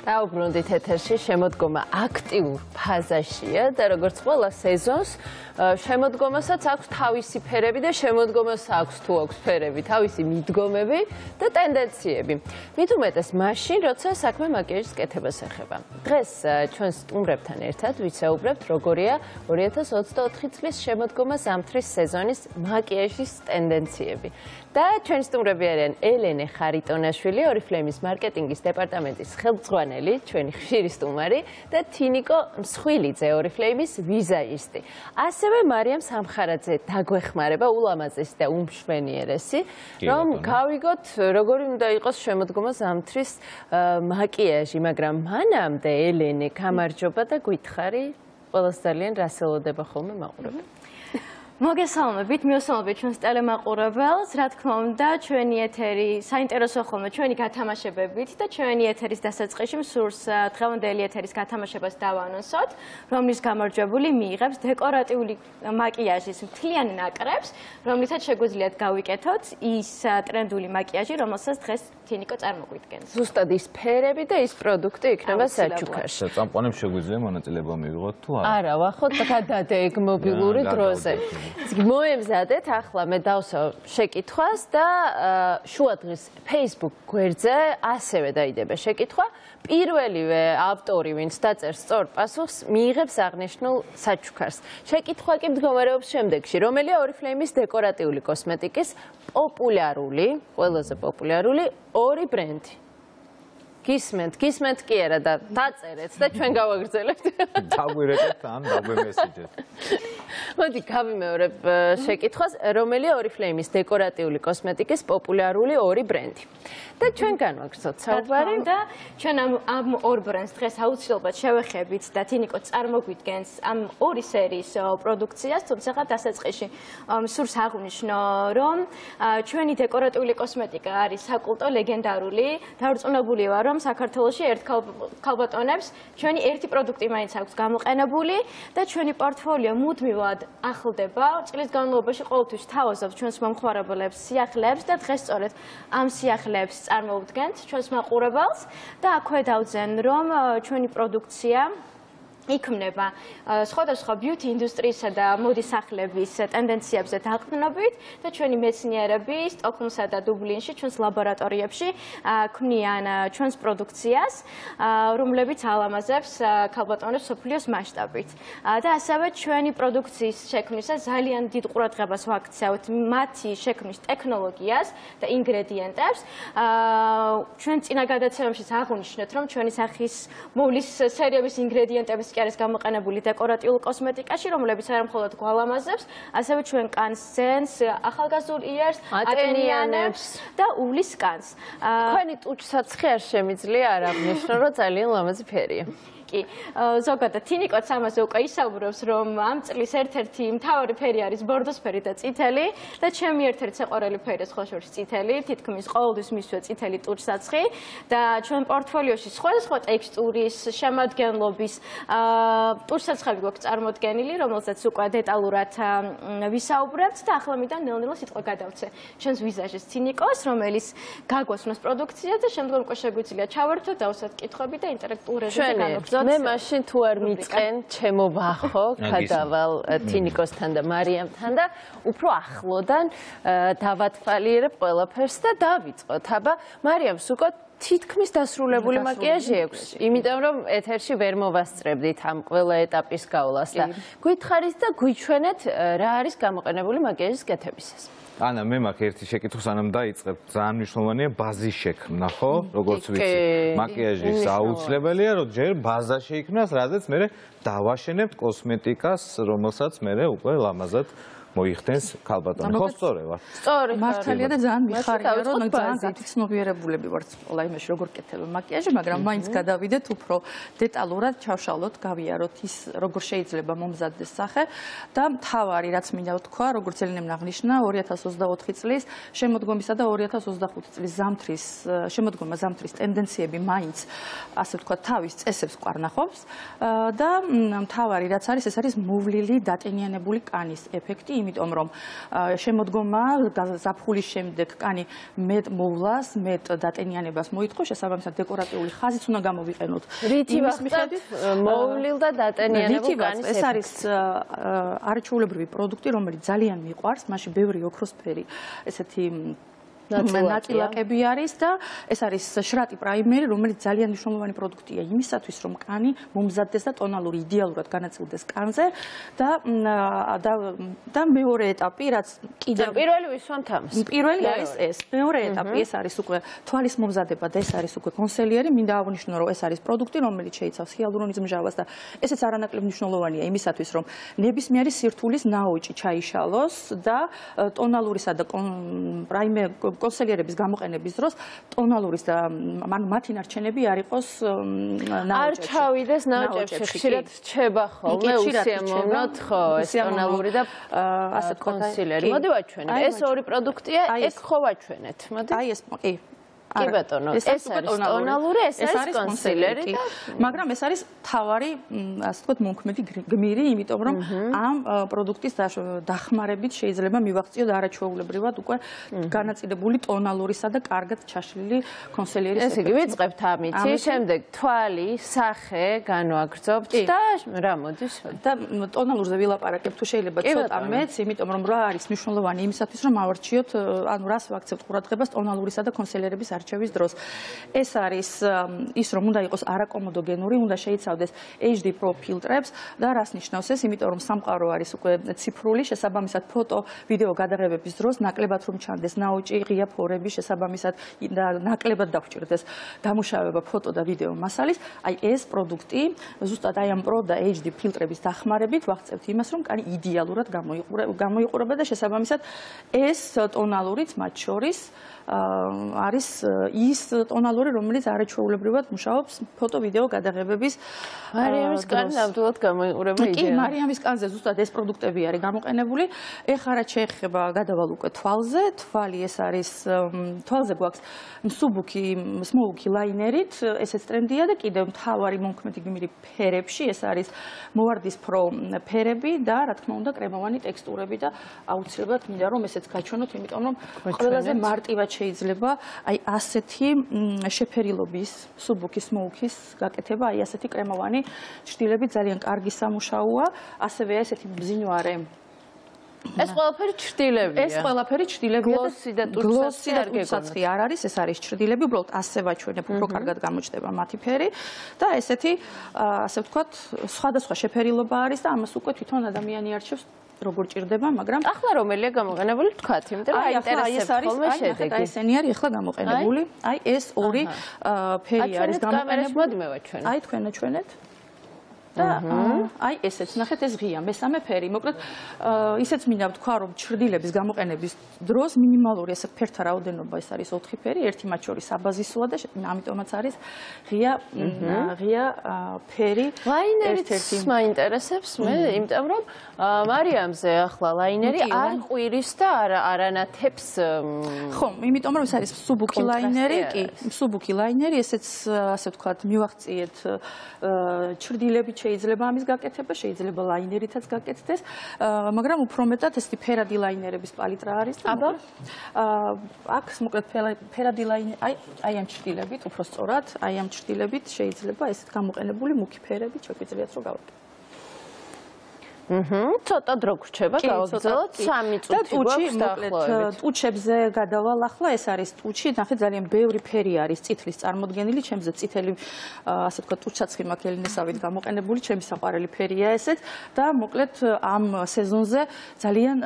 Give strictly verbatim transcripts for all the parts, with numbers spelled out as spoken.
დაუბრუნდით ეთერში, შემოდგომა აქტიურ ფაზაშია და როგორც ყველა სეზონს შემოდგომასაც აქვს თავისი ფერები და შემოდგომას აქვს თუ აქვს ფერები, თავისი მიდგომები და ტენდენციები. მით უმეტეს მაშინ, როცა საქმე მაკიაჟის კეთებას ეხება. დღეს ჩვენ სტუმრებთან ერთად ვისაუბრებთ, როგორია ორი ათას ოცდაოთხი წლის შემოდგომა ზამთრის სეზონის მაკიაჟის ტენდენციები. და ჩვენი სტუმრები არიან ელენე ხარიტონაშვილი, ორიფლეიმის მარკეტინგის დეპარტამენტის ხელმძღვანელი, ჩვენი ხშირი სტუმარი და თინიკო მსხვილიძე, ორიფლეიმის ვიზაჟისტი. ასევე მარიამ სამხარაძე დაგვეხმარება, ულამაზესი და უმშვენიერესი, რომ გავიგოთ, როგორი უნდა იყოს შემოდგომა ზამთრის მაკიაჟი, მაგრამ მანამდე ელენე, გამარჯობა და გითხარი, ყველას ძალიან რას ელოდება ხოლმე მაყურებელი. მოგესალმებით, მიესალმებით ჩვენს ტელემაყურებელს, რა თქმა უნდა, ჩვენი ეთერი საინტერესო ხოლმე ჩვენი გათამაშებებით და ჩვენი ეთერის დასაწყისში მსურს დღევანდელი ეთერის გათამაშებას დავანონსოთ, რომლის გამარჯვებული მიიღებს დეკორატიული მაკიაჟის მთლიან ნაკრებს, რომლითაც შეგვიძლიათ გავიკეთოთ ის ტრენდული მაკიაჟი, რომელსაც დღეს თინიკო წარმოგვიდგენს. ზუსტად ის ფერები და ის პროდუქტი იქნება საჩუქარში. წამყვანებს შეგვიძლია მონაწილეობა მივიღოთ თუ არა? არა, ვახოთ გადადեք მობილური დროზე. მოემზადეთ, ახლა მე დავსვავ შეკითხვას და შუადღის Facebook გვერდზე ასევე დაიდება შეკითხვა. პირველივე ავტორი, ვინც დაწერს სწორ პასუხს, მიიღებს აღნიშნულ საჩუქარს. შეკითხვა კი მდგომარეობს შემდეგში, რომელია ორიფლეიმის დეკორატიული კოსმეტიკის პოპულარული, ყველაზე პოპულარული ორი ბრენდი. გისმენთ, გისმენთ კი არა და დაწერეთ და ჩვენ გავაგრძელებთ. დაგვირეკეთ ან დაგვემესიჯეთ. მოდი გავიმეორებ შეკითხვას, რომელია ორიფლეიმის დეკორატიული კოსმეტიკის პოპულარული ორი ბრენდი. და ჩვენ განვაგრძელოთ საუბარი და ჩვენ ამ ამ ორ ბრენდს დღეს აუცილებლად შევეხებით და თინიკო წარმოგვიდგენს ამ ორი სერიის პროდუქციას, თუმცა დასაწყისში მსურს აღვნიშნო, რომ ჩვენი დეკორატიული კოსმეტიკა არის საკულტო ლეგენდარული, დავრწმუნებული ვარ, რომ საქართველოში ერთ ქალბატონებს ჩვენი ერთი პროდუქტი მაინც აქვს გამოყენებული და ჩვენი პორტფოლიო მუდმივად ახლდება. წლის განმავლობაში ყოველთვის თავაზობთ ჩვენს მომხმარებლებს, სიახლეებს და დღეს სწორედ ამ სიახლეებს წარმოვდგენთ ჩვენს მაყურებელს და აქვე დავძენ, რომ ჩვენი პროდუქცია იქმნება სხვადასხვა ბიუთი ინდუსტრიისა და მოდის სახლების ტენდენციებზე დაყრდნობით და ჩვენი მეცნიერები სტოკჰოლმსა და დუბლინში ჩვენს ლაბორატორიებში ქმნიან ჩვენს პროდუქციას, რომლებიც ალამაზებს ქალბატონებს მსოფლიოს მასშტაბით. და ასევე ჩვენი პროდუქციის შექმნისას ძალიან დიდ ყურადღებას ვაქცევთ მათი შექმნის ტექნოლოგიას და ინგრედიენტებს. ჩვენ წინა გადაცემებშიც აღვნიშნეთ, რომ ჩვენი სახის მოვლის სერიების ინგრედიენტების არის გამოყენებული დეკორატიულ კოსმეტიკაში, რომლებიც არა მხოლოდ გვალამაზებს, ასევე ჩვენ კანს ძენს, ახალგაზრდულ იერს, ატენიანებს და უვლის კანს. თქვენი ტუჩსაცხი არ შემიძლია არ აღნიშნო, რომ ძალიან ლამაზი ფერია. კი, ზოგადად თინიკოც ამაზე უკვე ისაუბრებს, რომ ამ წლის ერთ-ერთი მთავარი ფერი არის ბორდოსფერი და წითელი და ჩემი ერთ-ერთი საყვარელი ფერია სხვაშორის წითელი, თითქმის ყოველთვის მისვე წითელი ტუჩსაცხი და ჩვენ პორტფოლიოში სხვადასხვა ტექსტურის, შემადგენლობის ტუჩსაცხები გვაქვს წარმოდგენილი, რომელზეც უკვე დეტალურად ვისაუბრებთ და ახლა მინდა ნელ-ნელა სიტყვა გადავცე ჩვენს ვიზაჟის თინიკოს, რომელიც გაგვასვენოს პროდუქცია და შემდგომ უკვე შეგვიძლია ჩავერთოთ, დავსვათ კითხვები და ინტერაქტიულ რეჟიმზე განვაგრძელოთ. მე მაშინ თუ არ მიწყენ, ჩემო ვახო, გადავალ თინიკოსთან და მარიამთან და უფრო ახლოდან დავათვალიერებ ყველაფერს და დავიწყოთ. აბა, მარიამს უკვე თითქმის დასრულებული მაკიაჟი აქვს, იმიტომ რომ ეთერში ვერ მოვასწრებდით ამ ყველა ეტაპის გავლას და გითხარით და გვიჩვენეთ რა არის გამოყენებული მაკიაჟის კეთებისას. ანა, მე მაქვს ერთი შეკითხვა, სანამ დაიწყებ, ძალიან მნიშვნელოვანია ბაზის შექმნა, ხო? როგორც ვიცი, მაკიაჟის აუცილებელია, რომ ჯერ ბაზა შეიქმნას, რადგან მე დავაშენებ კოსმეტიკას, რომელსაც მე უკვე ლამაზად მოიხდენს ქალბატონი. ხო, სწორი ვარ. სწორი. მართალია და ძალიან მიხარია, რომ ძალიან გათიცნობიერებულები ვართ ყველა იმაში, როგორ კეთდება მაკიაჟი, მაგრამ მაინც გადავიდეთ უფრო დეტალურად, ჩავშალოთ, გავიაროთ ის, როგორ შეიძლება მომზადდეს სახე და მთავარი, რაც მინდა ვთქვა, როგორც ელენემ აღნიშნა, ორი ათას ოცდაოთხი წლის შემოდგომისა და ორი ათას ოცდახუთი წლის ზამთრის შემოდგომა ზამთრის ტენდენციები მაინც, ასე ვთქვა, თავის წესებს ყვარნახობს და მთავარი, რაც არის, ეს არის მოვლილი დატენიანებული კანის ეფექტი იმიტომ რომ შემოდგომა ზაფხულის შემდეგ კანი მეტ მოვლას, მეტ დატენიანებას მოითხოვს, შესაბამისად დეკორატიული ხაზიც უნდა გამოვიყენოთ. რითი ვახტად მოვლილ და დატენიანებულ კანის ეს არის არაჩვეულებრივი პროდუქტი, რომელიც ძალიან მიყვარს, მასში ბევრი ოქროსფერი ესეთი ნაწილაკები არის და ეს არის შრატი პრაიმერი, რომელიც ძალიან მნიშვნელოვანი პროდუქტია იმისათვის, რომ კანი მომზადდეს და ტონალური იდეალურად განაწილდეს კანზე და და მეორე ეტაპი, რაც კიდევ პირველი ვისვამთ ამას. პირველი არის ეს. მეორე ეტაპი ეს არის უკვე თვალის მომზადება და ეს არის უკვე კონსელიერი, მინდა აღვნიშნო, რომ ეს არის პროდუქტი, რომელიც შეიცავს ჰიალურონის მჟავას და ესეც არანაკლებ მნიშვნელოვანია იმისათვის, რომ ნებისმიერი სირთულის ნაოჭი ჩაიშალოს და ტონალურისა და პრაიმერ კონსელიერების გამოყენების დროს ტონალურის და ანუ მათი ნარჩენები არ იყოს ნაოჭებში. არ ჩავიდეს ნაოჭებში, ხშირად რჩება ხოლმე უსიამოვნოდ ხო ეს ტონალური და ასე თქვა კონსილერი. მოდი ვაჩვენებ. ეს ორი პროდუქტია, ეს ხო ვაჩვენეთ. მოდი. აი ეს კი. კი ბატონო, ეს არის ტონალური, ეს არის კონსილერი და მაგრამ ეს არის თავარი, ასე ვთქვათ, მონქმედი გმირი, იმიტომ რომ ამ პროდუქტის დახმარებით შეიძლება მივაღწიოთ არაჩვეულებრივად უკვე განაწილებული ტონალურისა და კარგად ჩაშლილი კონსილიერის ესე იგი ვიწყებთ ამითი, შემდეგ თვალი, სახე განვაგრძობთ და რა მოდის და ტონალურზე ვილაპარაკებ თუ შეიძლება ცოტა მეც, იმიტომ რომ რა არის მნიშვნელოვანი იმისათვის რომ ავარჩიოთ, ანუ რას ვაქცევთ ყურადღებას ტონალურისა და კონსილიერების არჩევის დროს. ეს არის ის, რომ უნდა იყოს არაკომოდოგენური, უნდა შეიცავდეს H D Pro ფილტრებს და რას ნიშნავს ეს? იმიტომ რომ სამყარო არის უკვე ციფრული, შესაბამისად ფოტო, ვიდეო გადაღებების დროს ნაკლებად რომ ჩანდეს ნაოჭი, ღია ფორები, შესაბამისად და ნაკლებად დაგვჭირდეს დამუშავება ფოტო და ვიდეო მასალის. აი ეს პროდუქტი ზუსტად აი ამ Pro და H D ფილტრების დახმარებით ვაღწევთ იმას, რომ კანი იდეალურად გამოიყურება და შესაბამისად ეს ტონალურიც მათ შორის არის ის ტონალური, რომელიც არაჩვეულებრივად მუშაობს ფოტო-ვიდეო გადაღებების მარიამის კანი ნამდვილად გამოიყურება იდეა. კი, მარიამის კანზე ზუსტად ეს პროდუქტები არის გამოყენებული. ეხლა რაც შეეხება გადავალ უკვე თვალზე, თვალი ეს არის თვალზე გვაქვს მსუბუქი, სმოუქი ლაინერით, ესეც ტრენდია და კიდევ მთავარი მონქმედი გმირი ფერებში, ეს არის მოვარდისფრო ფერები და რა თქმა უნდა კრემოვანი ტექსტურები და აუცილებლად მინდა რომ ესეც გაჩვენოთ, იმიტომ რომ ყველაზე მარტივად შეიძლება აი ასეთი შეფერილობის სუბუქის სმოუქის გაკეთება, აი ასეთი კრემოვანი ჭრილები ძალიან კარგი სამუშაოა, ასევე ესეთი მბზინვარე ეს ყველაფერი ჭრილებია. ეს ყველაფერი ჭრილებია და გლოსი და ტუჩსაცი არ გეგონათ. არ არის, ეს არის ჭრილები, უბრალოდ ასე ვაჩვენებ, უფრო კარგად გამოჩნდება მათი ფერი და ესეთი ასე ვთქვათ, სხვადასხვა შეფერილობა არის და ამას უკვე თვითონ ადამიანი არჩევს როგორ ჭირდება, მაგრამ ახლა რომელია გამოყენებული თქვათ, იმიტომ რომ აინტერესებს ხოლმე შედეგი. აი ესენი არის ახლა გამოყენებული. აი ეს ორი ფერი არის გამოყენებული. მოდი მე ვაჩვენო. აი თქვენ აჩვენეთ. და აი ესეც ნახეთ ეს ღია მესამე ფერი. მოკლედ ისეც მინდა ვთქვა, რომ ჭრდილების გამოყენების დროს მინიმალური ეს ფერთა რაოდენობა ეს არის ოთხი ფერი, ერთი მათ შორის აბაზისოა და ამიტომაც არის ღია ღია ფერი. ლაინერიც მაინტერესებს მე, იმიტომ რომ მარიამზე ახლა ლაინერი არ ყვირის და არანათებს. ხო, იმიტომ რომ ეს არის მსუბუქი ლაინერი, კი, მსუბუქი ლაინერი, ესეც ასე ვთქვათ, მივაღწიეთ ჭრდილები შეიძლება ამის გაკეთება, შეიძლება ლაინერითაც გაკეთდეს, მაგრამ უფრო მეტად ესეთი ფერადი ლაინერების პალიტრა არის და აბა აქ მოკლედ ფერადი ლაინერი, აი აი ამ ჭრილებით, უფრო სწორად, აი ამ ჭრილებით შეიძლება ესეთ გამოყენებული მუქი ფერები შეგვიძლიათ რომ გავაკეთოთ. აჰა, ცოტა დრო გრჩება, გავაგრძელოთ სამი წუთი გვაქვს დაახლოებით. ტუჩებზე გადავალ ახლა, ეს არის ტუჩი, ნახეთ ძალიან ბევრი ფერი არის წითლის წარმოდგენილი, ჩემზე წითელი ასე ვთქვათ, ტუჩაცხვი მაქვს ელინესავით გამოყენებული, ჩემი საყვარელი ფერია ესეც და მოკლედ ამ სეზონზე ძალიან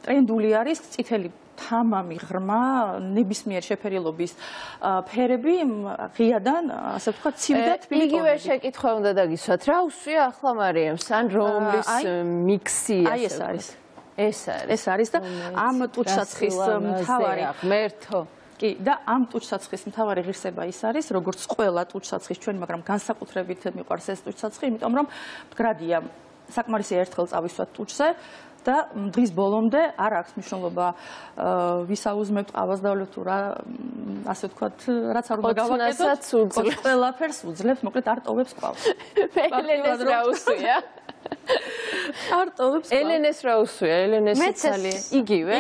ტრენდული არის წითელი თამამი ღრმა ნებისმიერ შეფერილობის ფერები ღიადან ასე ვთქვათ ცივი თბილი იგივე შეკითხვა უნდა დაგისვათ რა უსვია ახლა მარიამს ან რომლის მიქსი აი ეს არის ეს არის ეს არის და ამ ტუჩსაცხის მთავარი ღმერთო კი და ამ ტუჩსაცხის მთავარი ღირსება ის არის როგორც ყველა ტუჩსაცხის ჩვენ მაგრამ განსაკუთრებით მიყვარს ეს ტუჩსაცხი იმიტომ რომ მდგრადია საკმარისი ერთხელ წავისვათ ტუჩზე და დღის ბოლომდე არ აქვს მნიშვნელობა ვისაუზმებთ ყავას დავლევთ თუ რა ასე ვთქვათ რაც არ უნდა გავაკეთოთ ყველაფერს უძლებს მოკლედ არ ტოვებს ყავს ფელენეს რა უსვია არტოვებს ელენეს რა უსვია? ელენეს ძალიან იგივე?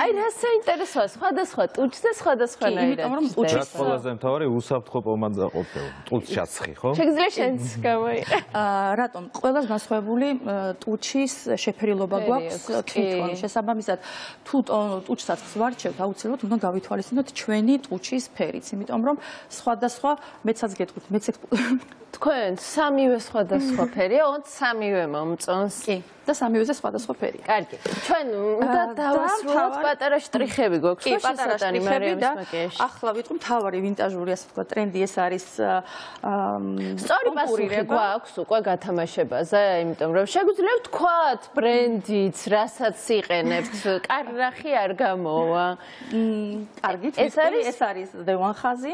აი რა საინტერესოა, სხვადასხვა ტუჩს და სხვადასხვანაირად. იმიტომ რომ ტუჩის რაც ყველაზე მთავარი უსაფრთხო პომადა ყოფილ. ტუჩს ჩაცხი, ხო? შეგიძლია შენც გამოიყე. აა რატომ? ყველას განსხვავებული ტუჩის შეფერილობა გვაქვს თვითონ. შესაბამისად, თუ ტუჩსაც ვარჩევთ, აუცილებლად უნდა გავითვალისწინოთ ჩვენი ტუჩის ფერიც, იმიტომ რომ სხვადასხვა მეცაც გეტყვით, მეც თქვენ სამივე სხვადასხვა ფერია, ოღონდ სამივე მომწონს. კი, და სამივეზე სხვადასხვა ფერია. კარგი. ჩვენ უნდა დავასრულოთ პატარა შტრიხები გვაქვს. კი, პატარა შტრიხები და ახლა ვიტყვი მთავარი ვინტაჟური, ასე ვთქვათ, ტრენდი ეს არის სწორი პასუხი გვაქვს უკვე გათამაშებაზე, იმიტომ რომ შეგვიძლია ვთქვათ ბრენდიც, რასაც იყენებთ, კარნახი არ გამოვა. კარგით, ეს არის ეს არის დევან ხაზი.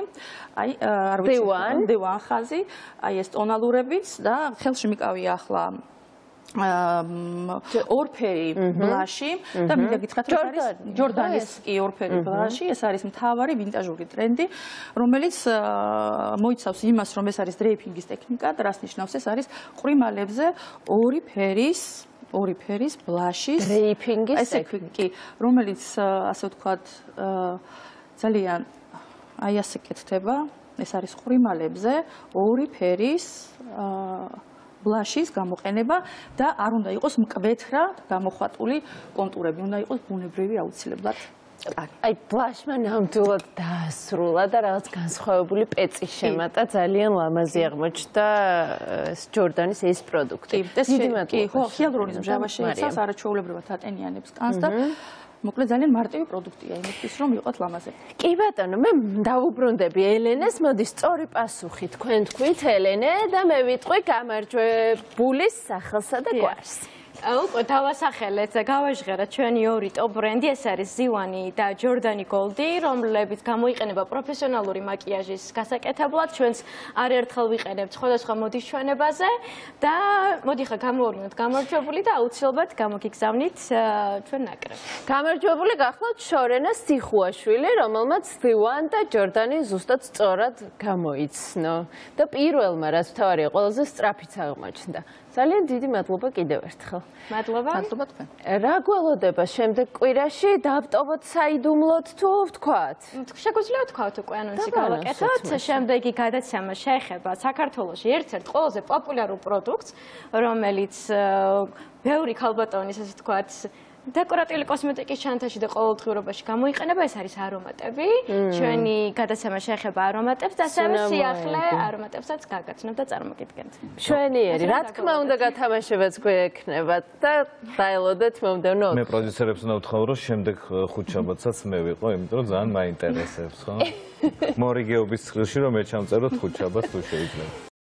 აი, არ ვიცი, დევან ხაზი. აი ეს ტონალურებიც და ხელში მიკავია ახლა ორფერი ბლაში და მინდა გითხრათ ეს არის ჯორდანის კი ორფერი ბლაში, ეს არის მთავარი ვინტაჟური ტრენდი, რომელიც მოიცავს იმას, რომ ეს არის დრეიფინგის ტექნიკა, რას ნიშნავს ეს არის ყვრიმალებზე ორი ფერის ორი ფერის ბლაშის დრეიფინგის ტექნიკა, რომელიც ასე ვთქვათ ძალიან აი ასე კეთდება. ეს არის ყვრიმალებზე ორი ფერის ბლაშის გამოყენება და არ უნდა იყოს მკვეთრა გამოხატული კონტურები, უნდა იყოს ბუნებრივი აუცილებლად. აი ბლაშმა ნამდვილად დაასრულა და რაღაც განსხვავებული პეწი შემატა, ძალიან ლამაზი აღმოჩნდა ჯორდანის ეს პროდუქტი. დიდი მადლობა. კი, ხო, ჰიალურონის მჟავა შეიცავს არაჩვეულებრივად ატენიანებს კანს და მოკლედ ძალიან მარტივი პროდუქტია იმისთვის რომ იყოთ ლამაზები. კი ბატონო, მე დავუბრუნდები ელენეს, მოდი სწორი პასუხი თქვენ თქვით ელენე და მე ვიტყვი გამარჯვებულის სახელსა და გვარს. უკვე დავასახელეთ, გავაჟღერეთ ჩვენი ორი ტოპ ბრენდი, ეს არის ზივანი და ჯორდანი გოლდი, რომლებიც გამოიყენება პროფესიონალური მაკიაჟის გასაკეთებლად. ჩვენს არაერთხელ ვიყენებთ სხვადასხვა მოდის ჩვენებაზე და მოდი ხა გამოვარდნოთ გამარჯვებული და აუცილებლად გამოგიგზავნით ჩვენ ნაკრებს. გამარჯვებული გახლავთ შორენა სიხუაშვილი, რომელმაც ზივან და ჯორდანი ზუსტად სწორად გამოიცნო და პირველმა რაც თავარია ყველაზე სწრაფიც აღმოჩნდა. ძალიან დიდი მადლობა კიდევ ერთხელ. მადლობა. მადლობა თქვენ. რა გველოდება შემდეგ კვირაში? დავტოვოთ საიდუმლოდ თუ ვთქვათ? შეგვიძლია ვთქვათ უკვე ანონსი გავაკეთოთ. შემდეგი გადაცემა შეეხება საქართველოში ერთ-ერთ ყველაზე პოპულარულ პროდუქტს, რომელიც ბევრი ქალბატონის, ასე ვთქვათ, დეკორატიული კოსმეტიკის ჩანთაში და ყოველდღიურობაში გამოიყენება, ეს არის არომატები. ჩვენი გადაცემა შეეხება არომატებს და ასევე სიახლე არომატებსაც გაგაცნობთ და წარმოგიდგენთ. მშვენიერი, რა თქმა უნდა გათამაშებაც გვექნება და დაელოდეთ მომდევნო. მე პროდიუსერებს უნდა ვთხოვ, რომ შემდეგ ხუთშაბათსაც მე ვიყო, იმიტომ რომ ძალიან მაინტერესებს, ხო? მორიგეობის წყილში რომ მე ჩამწეროთ ხუთშაბათს თუ შეიძლება.